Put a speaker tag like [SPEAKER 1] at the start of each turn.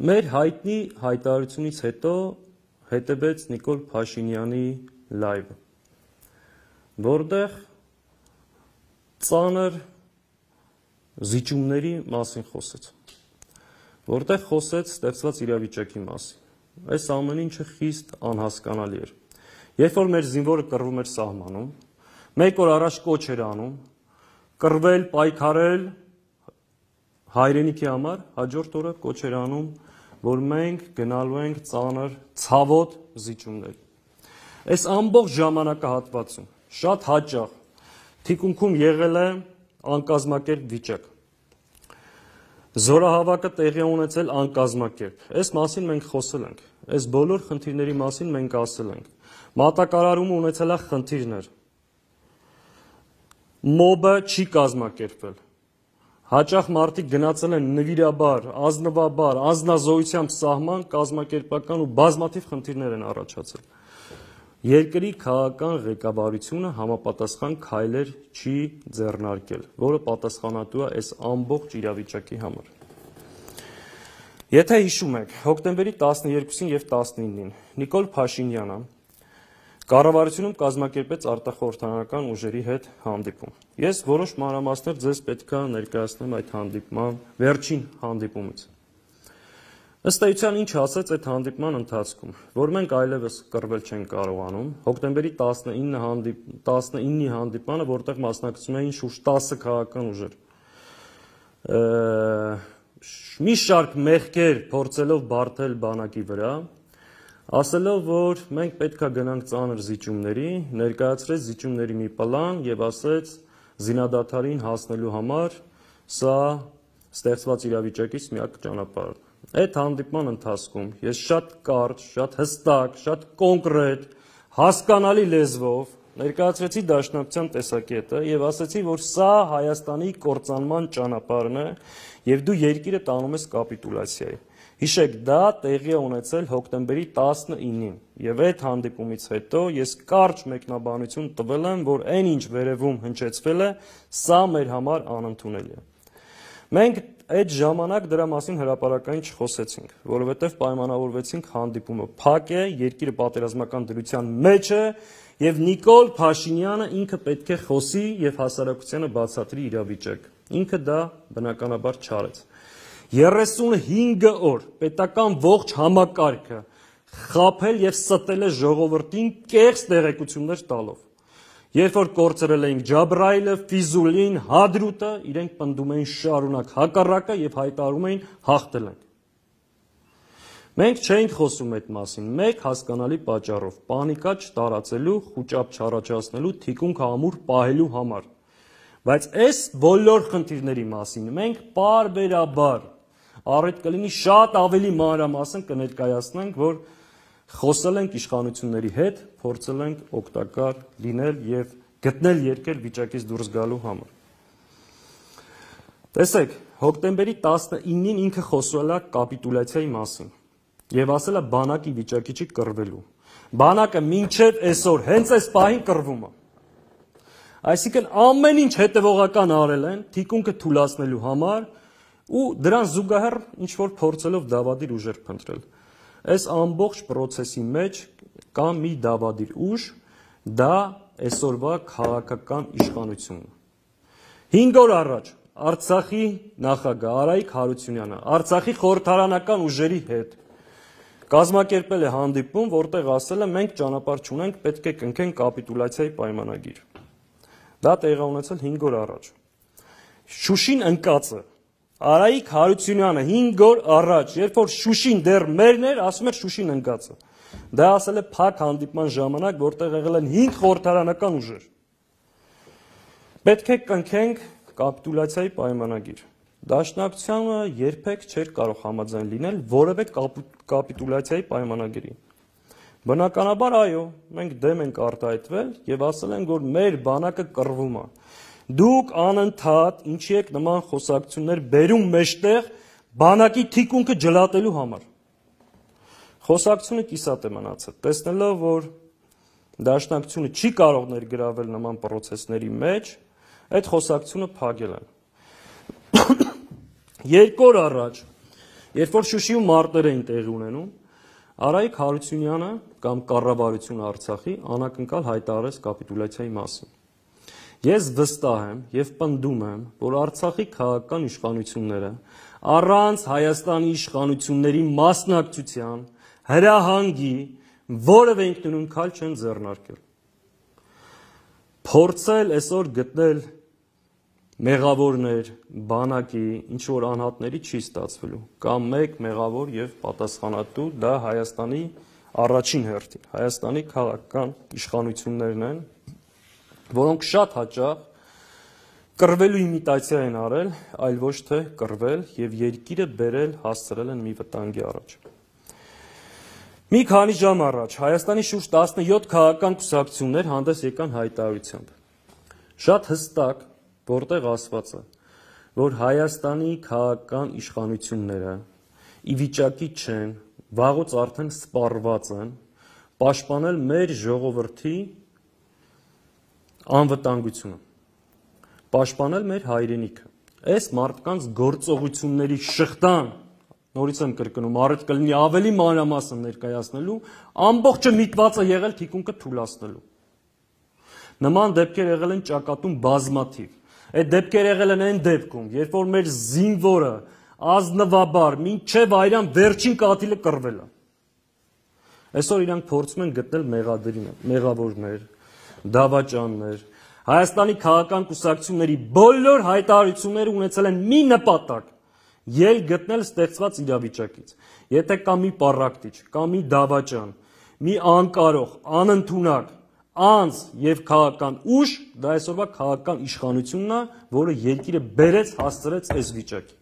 [SPEAKER 1] Մեր հայտնի հայտարարությունից հետո հետևեց Նիկոլ Փաշինյանի լայվը, որտեղ ծանր զիջումների մասին խոսեց, որտեղ խոսեց ստեղծված իրավիճակի մասին։ Այս ամեն ինչը խիստ անհասկանալի էր։ Երբ որ մեր զինվորը կռվում էր սահմանում, մեկ օր առաջ կոչ էր անում կռվել, պայքարել հայրենիքի համար, հաջորդ օրը կոչ էր անում, որ մենք գնալու ենք ծանր ցավոտ զիջումներ։ Այս ամբողջ ժամանակահատվածում շատ հաճախ թիկունքում եղել է անկազմակերպ վիճակ։ Զորահավաքը տեղի ունեցել անկազմակերպ։ Այս մասին մենք խոսել ենք։ Այս բոլոր խնդիրների մասին մենք ասել ենք։ Մատակարարումը ունեցել է խնդիրներ։ Մոբը չի կազմակերպվել։ Հաճախ մարդիկ գնացել են նվիրաբար, ազնվաբար, անձնազոհությամբ սահման, կազմակերպական ու բազմաթիվ խնդիրներ են առաջացել։ Երկրի քաղաքական ղեկավարությունը համապատասխան քայլեր չի ձեռնարկել, որը պատասխանատու է այս ամբողջ իրավիճակի համար։ Եթե հիշում եք, հոկտեմբերի 12-ին և 19-ին Նիկոլ Փաշինյանը կառավարությունում կազմակերպեց արտախորհրդարանական ուժերի հետ հանդիպում։ Ես որոշ մանրամասներ ձեզ պետք է ներկայացնեմ այդ հանդիպման վերջին հանդիպումից։ Ըստ էության ինչ ասեց այդ հանդիպման ընթացքում, որ մենք այլևս կռվել չենք կարողանում, հոկտեմբերի 19-ի հանդիպմանը, որտեղ մասնակցում էին շուրջ 10 քաղաքական ուժեր, մի շարք մեղքեր փորձելով բարդել բանակի վրա, ասելով, որ մենք պետք է գնանք ծանր զիջումների, ներկայացրեց զիջումների մի պլան և ասեց զինադադարին հասնելու համար սա ստեղծված իրավիճակից միակ ճանապարհն է։ Այդ հանդիպման ընթացքում ես շատ կարճ, շատ հստակ, շատ կոնկրետ, հասկանալի լեզվով ներկայացրեցի Դաշնակցության տեսակետը և ասեցի, որ սա Հայաստանի կործանման ճանապարհն է և դու երկիրը տանում ես կապիտուլյացիայի։ Հիշեք, դա տեղի է ունեցել հոկտեմբերի 19-ին և այդ հանդիպումից հետո ես կարճ մեկնաբանություն տվել եմ, որ այն ինչ վերևում հնչեցվել է, սա մեր համար անընդունելի է։ Մենք այդ ժամանակ դրա մասին հրապարակային չխոսեցինք, որովհետև պայմանավորվեցինք հանդիպումը փակ է, երկիրը պատերազմական դրության մեջ է և Նիկոլ Փաշինյանը ինքը պետք է խոսի և հասարակությանը բացատրի իրավիճակ։ Ինքը դա բնականաբար չարեց։ 35 օր պետական ողջ համակարգը խաբել և ստել է ժողովրդին կեղծ տեղեկություններ տալով։ Երբ որ կորցրել էինք Ջաբրայիլը, Ֆիզուլին, Հադրութը, իրենք պնդում էին շարունակ հակառակը և հայտարարում էին հաղթել ենք։ Մենք չէինք խոսում այդ մասին, մեկ հասկանալի պատճառով՝ պանիկա չտարածելու, խուճապ չառաջացնելու, թիկունք ամուր պահելու համար։ Բայց այս բոլոր խնդիրների մասին մենք պարբերաբար առիթ կլինի շատ ավելի մանրամասն կներկայացնենք, որ խոսել ենք իշխանությունների հետ, փորձել ենք օգտակար լինել և գտնել ելքեր վիճակից դուրս գալու համար։ Տեսեք, հոկտեմբերի 19-ին ինքը խոսել է կապիտուլյացիայի մասին և ասել է բանակի վիճակի չի կռվելու։ Բանակը մինչև այսօր հենց այս պահին կռվում է։ Այսինքն ամեն ինչ հետևողական արել են թիկունքը թուլացնելու համար ու դրան զուգահեռ ինչ-որ փորձելով դավադիր ուժեր փնտրել։ Այս ամբողջ պրոցեսի մեջ կա մի դավադիր ուժ, դա այսօրվա քաղաքական իշխանությունն է։ 5 օր առաջ Արցախի նախագահ Արայիկ Հարությունյանը Արցախի խորհրդարանական ուժերի հետ կազմակերպել է հանդիպում, որտեղ ասել է մենք ճանապարհ չունենք, պետք է կնքենք կապիտուլյացիայի պայմանագիր։ Դա տեղի ունեցել 5 օր առաջ։ Շուշին ընկած է։ Արայիկ Հարությունյանը 5 օր առաջ, երբ որ Շուշին դեռ մերն էր, ասում էր Շուշին ընկած է։ Դա ասել է փակ հանդիպման ժամանակ, որտեղ եղել են 5 խորհրդարանական ուժեր։ Պետք է կնքենք կապիտուլյացիայի պայմանագիր։ Դաշնակցությունը երբեք չէր կարող համաձայն լինել որևէ կապիտուլյացիայի պայմանագրի։ Բնականաբար այո, մենք դեմ ենք արտահայտվել և ասել ենք, որ մեր բանակը կռվում է։ Դուք անընդհատ ինչի եք նման խոսակցություններ բերում մեջտեղ բանակի թիկունքը ջլատելու համար։ Խոսակցությունը կիսատ է մնացել, տեսնելով, որ Դաշնակցությունը չի կարող ներգրավել նման պրոցեսների մեջ, այդ խոսակցությունը փակել են։ Երկու օր առաջ, երբ որ Շուշիում մարտեր էին տեղի ունենում, Արայիկ Հարությունյանը կամ կառավարությունը Արցախի անակնկալ հայտարարեց կապիտուլյացիայի մասին։ Ես վստահ եմ եւ պնդում եմ, որ Արցախի քաղաքական իշխանությունները առանց Հայաստանի իշխանությունների մասնակցության հրահանգի որևէ ինքնուրույն քայլ չեն ձեռնարկել։ Փորձել այսօր գտնել մեղավորներ, բանակի, ինչ որ անհատների չի ստացվելու, կամ մեկ մեղավոր եւ պատասխանատու դա Հայաստանի առաջին հերթին, Հայաստանի քաղաքական իշխանություններն են, որոնք շատ հաճախ կռվելու իմիտացիա են արել, այլ ոչ թե կռվել եւ երկիրը բերել հասցրել են մի վտանգի առաջ։ Մի քանի ժամ առաջ Հայաստանի շուրջ 17 քաղաքական կուսակցություններ հանդես եկան հայտարարությամբ։ Շատ հստակ որտեղ ասված է, որ Հայաստանի քաղաքական իշխանությունները ի վիճակի չեն, վաղուց արդեն սպառված են, պաշտպանել մեր ժողովրդի անվտանգությունը, պաշտպանել մեր հայրենիքը։ Այս մարդկանց գործողությունների շղթան, նորից եմ կրկնում, առիթ կլինի ավելի մանրամասն ներկայացնելու, ամբողջը միտված է եղել թիկունքը թուլացնելու։ Նման դեպքեր եղել են ճակատում բազմաթիվ։ Այդ դեպքեր եղել են այն դեպքում, երբ որ մեր զինվորը ազնվաբար մինչև այրան վերջին կաթիլը կռվել է։ Այսօր իրանք փորձում են գտնել մեղավորներ, դավաճաններ։ Հայաստանի քաղաքական կուսակցությունների բոլոր հայտարարությունները ունեցել են մի նպատակ՝ ելք գտնել ստեղծված իրավիճակից։ Եթե կա մի պառակտիչ, կա մի դավաճան, մի անկարող, անընդունակ անձ եւ քաղաքական ուժ, դա այսօրվա քաղաքական իշխանությունն է, որը երկիրը բերեց հասցրեց այս վիճակի։